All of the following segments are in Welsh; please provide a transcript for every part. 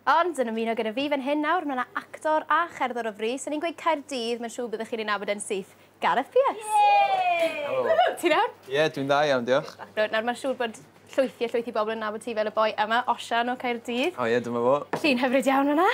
Ond yn ymuno gyda fi fan hyn nawr, mae yna actor a cherddor o fri. So ni'n gweud Caerdydd, mae'n siŵr byddwch chi'n ei nabod yn syth. Gareth Pearce. Helo. Ti'n iawn? Ie, yeah, dwi'n dda iawn, diolch. Nawr mae'n siŵr bod llwythi a llwythi bobl yn nabod ti fel y boi yma, Osian o Caerdydd. O ie, dyma fo. Llun hyfryd iawn hwnna.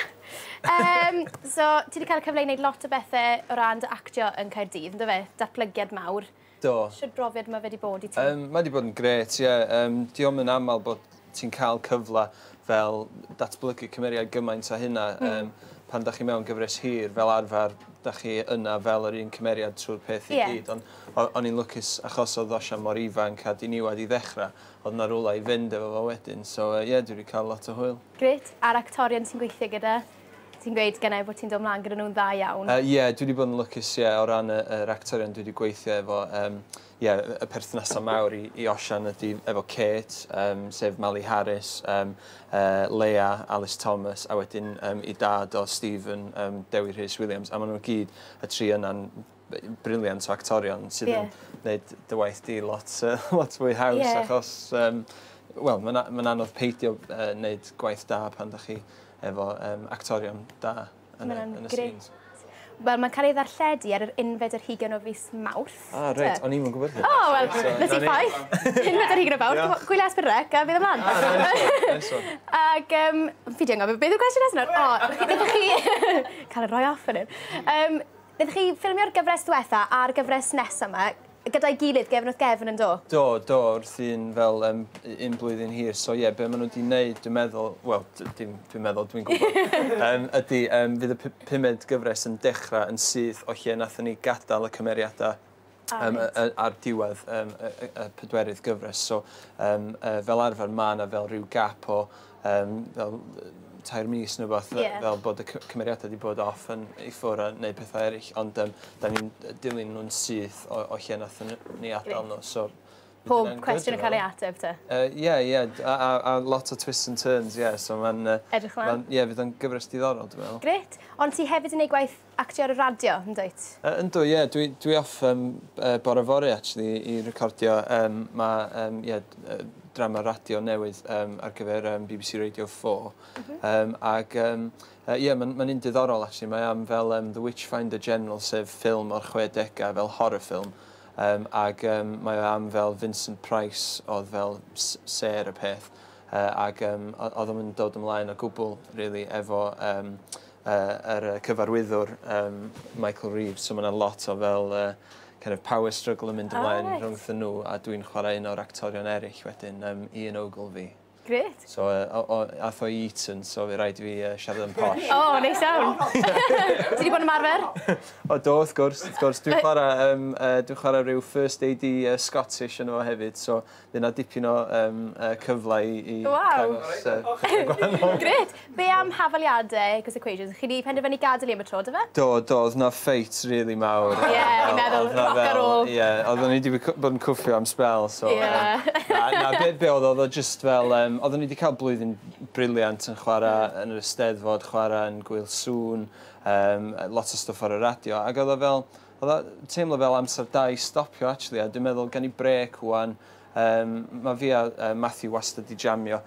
So, ti wedi cael y cyfle i wneud lot o bethau o ran dy actio yn Caerdydd, ynddo fe? Datblygiad mawr. Do. Shwt brofiad mae fe wedi bod i ti? Mae wedi bod yn grêt, ie. Yeah. Dio'm yn aml bod ti'n cael cyfle fel datblygu cymeriad gymaint â hynna. Pan da chi mewn gyfres hir, fel arfer, da chi yna fel yr un cymeriad trwy'r peth i gyd. Ond o'n i'n lwcus achos oedd Osian mor ifanc a diniwad i ddechrau, oedd 'na rywle i fynd efo fo wedyn. So ie, yeah, dwi wedi cael lot o hwyl. Grêt. A'r actorion ti'n gweithio gyda, ti'n gweud gynnau bod ti'n dod mlaen gyda nhw'n dda iawn. Ie, yeah, dwi wedi bod yn lwcus, ie, yeah, o ran yr actorion dwi wedi gweithio efo. Yeah, y perthnasau mawr i Osian ydy efo Kate, sef Mali Harris, Leia, Alice Thomas, a wedyn i dad o Stephen, Dewi Rhys Williams. A maen nhw gyd, y tri yna'n brilliant o actorion sydd yn gwneud dy waith di lot fwy haws, achos wel, mae'n ma anodd peidio wneud gwaith da pan da chi efo actorion da yn y scenes. Wel, mae'n cael ei ddarlledu ar yr 21 o fis Mawrth. Ah, reit, o'n i'm yn gwybod hynny. O, wel, na ti ffaith. 21 o Fawrth, gwylia S4C a fydd ymlaen. Ah, nice one. Ac, fi di anghofio, beth yw'r cwestiwn nesaf nawr? O, wnaethoch chi cael ei roi off yn hyn. Wnaethoch chi ffilmio'r gyfres diwetha a'r gyfres nesaf yma gyda'i gilydd, gefn wrth gefn, yn do? Do, wrth un fel un blwyddyn hir. So ie, yeah, be maen nhw wedi wneud, dwi'n meddwl, wel, dim dwi'n meddwl, dwi'n gwybod, ydy, fydd y pumed gyfres yn dechrau yn syth o lle nathon ni gadael y cymeriadau ar diwedd y pedwerydd gyfres. So, fel arfer, mae yna fel rhyw gap o fel 3 mis neu beth, fel bod y cymeriadau wedi bod off yn i ffwrdd a neud pethau eraill, ond da ni'n dilyn nhw'n syth o lle nathon ni adael nhw. So, pob cwestiwn yn cael ei ateb te? Ie, ie, a lot o twists and turns, ie, so mae'n Edrych mlaen. Ie, fydd o'n gyfres diddorol, dwi'n meddwl. Grêt. Ond ti hefyd yn neud gwaith actio ar y radio, yn dwyt? Yndw, ie, dwi off bore fory, actually, i recordio. Mae, ie, drama radio newydd ar gyfer BBC Radio 4. Ac ie, mae'n ma un diddorol, actually. Mae am fel The Witchfinder General, sef ffilm o'r 60au, fel horror film. Ac mae o am fel Vincent Price oedd fel sêr y peth. Ac oedd o'n dod ymlaen o gwbl, really, efo yr cyfarwyddwr Michael Reeves. So mae yna lot o fel kind of power struggle yn mynd ymlaen rhwngthyn nhw, a dwi'n chwarae un o'r actorion eraill wedyn, Ian Ogilvy. Grêt. So, ath o i Eton, so fe rhaid i fi siarad yn posh. O, neis iawn. Ti wedi bod yn ymarfer? O, do, wrth gwrs, wrth gwrs. Dwi'n chwarae rhyw First AD Scottish yn efo hefyd, so fydd yna dipyn o cyfle i dangos pethau gwahanol. Grêt. Be am hafaliadau Equals Equations? Chi wedi penderfynu gadael i am y tro, do fe? Do, oedd na ffeit really mawr. Ie, fi'n meddwl, rock a roll. Ie, oedden ni wedi bod yn cwffio am spel, so na, be oedd o just fel, oedden ni wedi cael blwyddyn brilliant yn chwarae yn yr Eisteddfod, chwarae yn Gŵyl Sŵn, lot o stwff ar y radio, ac oedd o fel, oedd o teimlo fel amser da i stopio, actually, a dwi'n meddwl gan i brêc ŵan. Mae fi a Matthew wastad di jamio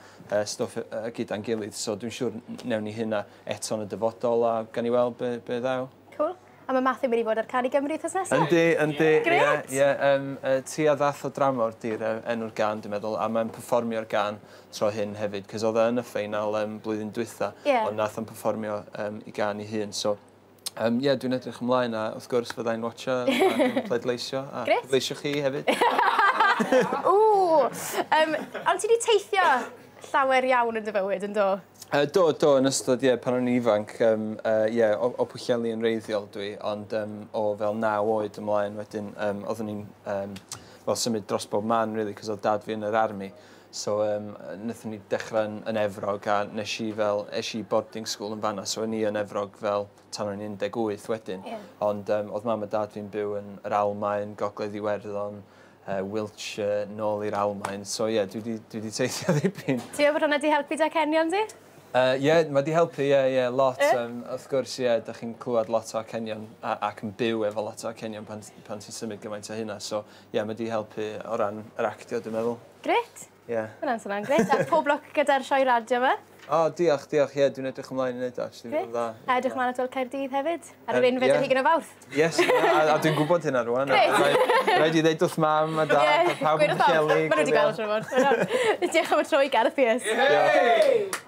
stwff gyda'n gilydd, so dwi'n siŵr newn ni hynna eto yn y dyfodol a gan i weld be ddaw. Cool. A mae Matthew mynd i fod ar Cân i Gymru wythnos nesaf? Yndi. Grêt! Ie, Ti a Ddath o Dramor di'r enw'r gân, dwi'n meddwl, a mae'n perfformio'r gân tro hyn hefyd, cos oedd e yn y ffeinal blwyddyn dwytha, ond nath o'n perfformio i gân i hun. So, ie, dwi'n edrych ymlaen a wrth gwrs fyddai'n watcha ac yn pleidleisio, a pleidleisio chi hefyd. Ww! Ond ti wedi teithio llawer iawn yn dy fywyd, yn do? Do, yn ystod, ie, pan o'n i'n ifanc, ie, o Pwllheli yn wreiddiol dwi, ond o fel 9 oed ymlaen wedyn, oeddwn ni'n wel, symud dros bob man, really, cos oedd dad fi yn yr army. So, wnaethon ni dechrau yn Efrog, a nes i fel, es i boarding school yn fanna, so o'n i yn Efrog fel tan o'n i'n 18 wedyn. Ond oedd mam a dad fi'n byw yn yr Almaen, Gogledd Iwerddon, Wiltshire, nôl i'r Almaen. So ie, yeah, dwi wedi teithio ddipyn. Ti'n meddwl bod hwnna wedi helpu dy acenion di? Ie, mae wedi helpu, ie, yeah, lot. Wrth gwrs, ie, yeah, da chi'n clywed lot o acenion ac yn byw efo lot o acenion pan ti'n symud gymaint o hynna. So, ie, yeah, mae wedi helpu o ran yr actio, dwi'n meddwl. Grêt. Ie. Hwnna'n swnio'n grêt. A pob lwc gyda'r sioe radio yma. O, diolch, diolch. Ie, dwi'n edrych ymlaen i wneud o, actually. Fydd o'n dda. A edrych ymlaen at weld Caerdydd hefyd, ar yr unfed ar hugain o Fawrth. Yes, a dwi'n gwybod hynna rwan. Rhaid i ddeud wrth mam a dad a pawb yn Pwllheli. Maen nhw wedi gweld siŵr o fod. Diolch am y tro i Gareth Pearce.